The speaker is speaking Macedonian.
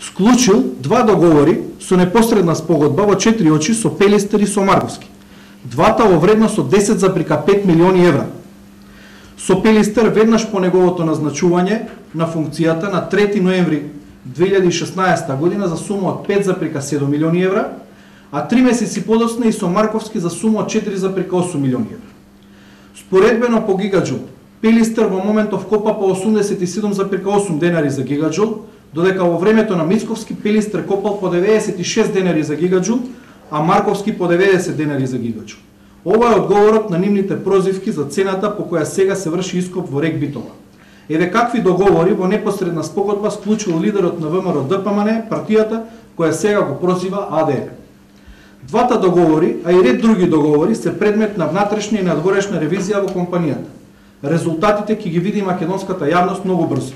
склучил два договори со непосредна спогодба во 4 очи со Пелистер и со Марковски. Двата во вредност од 10,5 милиони евра. Со Пелистер веднаш по неговото назначување на функцијата на 3 ноември 2016 година за сума од 5,7 милиони евра, а 3 месеци подоцна и со Марковски за сума од 4,8 милиони евра. Споредбено по гигаджул, Пелистер во моментов копа по 87,8 денари за гигаджул, додека во времето на Мицковски Пелистер копал по 96 денари за гигаджул, а Марковски по 90 денари за гигаджул. Ова е одговорот на нивните прозивки за цената по која сега се врши ископ во РЕК Битола. Еве какви договори во непосредна спогодба склучил лидерот на ВМРО ДПМН, партијата која сега го прозива АДР. Двата договори, а и ред други договори, се предмет на внатрешна и надворешна ревизија во компанијата. Резултатите ќе ги види македонската јавност многу брзо.